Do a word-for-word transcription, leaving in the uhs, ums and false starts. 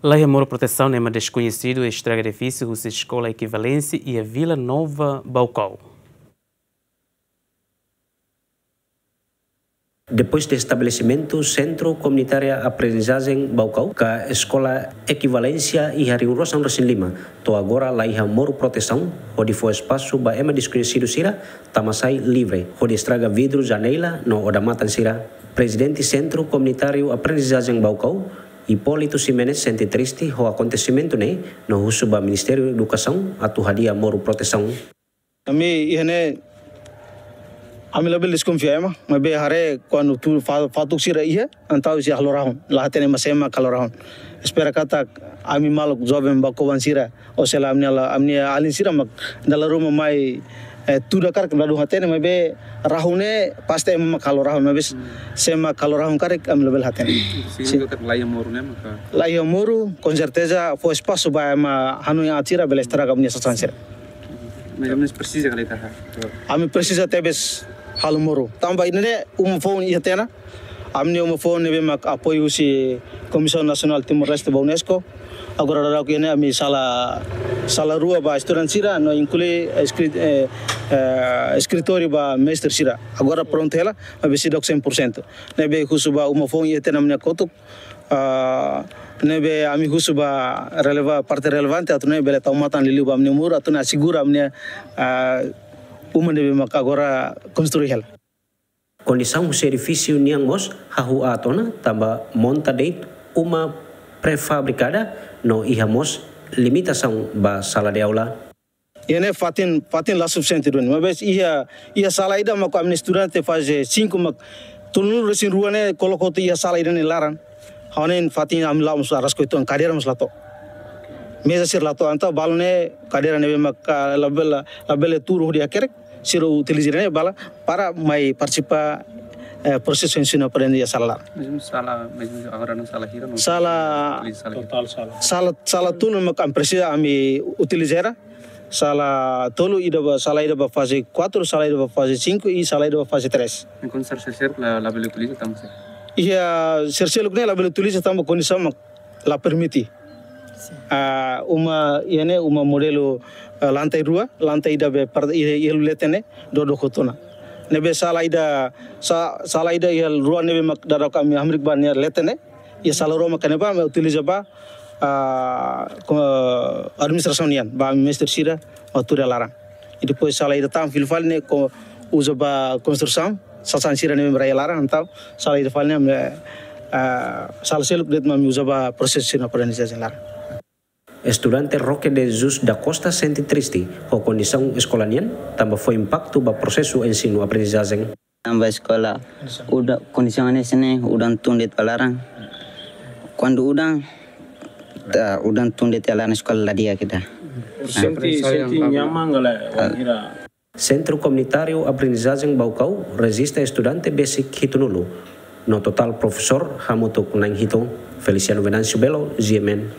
Laiha muru protesaun no ema deskoñesidu estraga edifísiu husi Eskola Ekivalénsia iha Vila Nova, Baucau. Depois de estabelesimentu Sentru Komunitária Aprendizajen Baucau ka Eskola Ekivalénsia iha rihun rua sanulu-resin-lima, to'o agora laiha muru protesaun, hodi fó espasu ba ema deskoñesidu sira tama sai livre, hodi estraga vidru, janela no odamatan sira. Prezidente Sentru Komunitáriu Aprendizajen Baucau, Hipólito Ximenes, sente triste ho akontesimentu ne'e no husu ba Ministériu Edukasaun atu hadi'a muru protesaun. Ami iha ne'e, ami labele deskonfia ema, maibé haree kuandu tuur fa-, fatuk sira iha, entaun sira halo rahun, la hatene ema sé mak halo rahun. Espera katak ami maluk joven Baucauan sira, ou sei la ami-nia la, ami-nia alin sira mak dala ruma mai, eh, tuur hakarak ladún hatene, maibé rahun ne'e pasti ema mak halo rahun, maibé sé mak halo rahun karik ami labele hatene. Sin. Signifika katak laiha muru ne'e maka? Laiha muru, com certeza, fó espasu ba ema hanoin aat sira bele estraga ami-nia sasán sira. Mais ou menos presiza ka lae? Ami presiza tebes halo muru. Tanba ida-ne'e uma foun iha tiha ona. Ami-nia uma foun ne'ebé mak apoiu husi Komisaun Nasionál Timor-Leste ba UNESCO. Agora daudaun iha ne'e ami sala, sala rua ba estudante sira no inklui eskri-, eh, eh, eskritóriu ba mestre sira. Agora prontu hela, maibé seidauk cem por cento. Ne'ebé husu ba uma foun iha tiha ona ami-nia kotuk. Ah, ne'ebé ami husu ba releva-, parte relevante atu nune'e bele tau matan liuliu ba ami-nia muru atu nune'e asegura ami-nia, ah, uma ne'ebé mak agora konstrui hela. Kondisaun husi edifísiu nian mós hahú aat ona tanba monta de'it uma prefabrikada no iha mós limitasaun ba sala de aula. Iha ne'e fatin, fatin la sufisiente duni. Maibé iha, iha sala ida mak ami-nia estudante faze cinco mak tolunulu-resin-rua ne'e koloka hotu iha sala ida nia laran. Ha'u hanoin fatin ami la'o mós araska uitoan, kadeira mós la to'o. Meza sira la to'o, entaun balu ne'e kadeira ne'ebé mak, ah, labele, labele tuur hodi hakerek, sira utiliza ne'e balu para mai partisipa, eh, prosesu ensinu-aprendizajen iha sala laran. Mesmu sala, mesmu agora no sala hira no? Sala, utiliza sala hira? Total sala. Sala, sala tolu mak ami presiza ami utiliza. Sala tolu, ida ba, sala ida ba faze quatro, sala ida ba faze cinco i sala ida ba faze três. Enkuantu sala seluk-seluk la, labele utiliza tanba sé? Iha sala seluk-seluk ne'e labele utiliza tanba kondisaun mak la permite. Ah, uma iha ne'e uma modelu, ah, lantai rua, lantai ida be par-, iha, iha leten ne'e, dodok hotu ona. Ne'ebé sala ida, sa-, sala ida iha rua ne'ebé mak daudaun ami hamriik ba nia leten ne'e, iha sala rua mak ne'ebá ami utiliza ba, ah, ko-, administrasaun nian, ba mestre sira, atu tuur iha laran. I depois sala ida tan fila fali ne'e ko uza ba konstrusaun, sasán sira ne'ebé rai iha laran, entaun sala ida fali ne'e, eh, sala seluk de'it mak ami uza ba prosesu ensinu-aprendizajen laran. Estudante Roque de Jesus da Costa sente triste ho kondisaun eskola nian, tanba fó impaktu ba prosesu ensinu-aprendizajen. Tanba eskola, udan, kondisaun hanesan ne'e, udan tun de'it ba laran. Kuandu udan, ta, udan tun de'it ba laran eskola la di'ak ida. Sente, sente nyaman ka lae, ah, wainhira. Sentru Komunitáriu Aprendizajen Baucau rejista estudante besik hitunulu, no totál profesór hamutuk na'in hitu. Feliciano Venâncio Belo, G M N.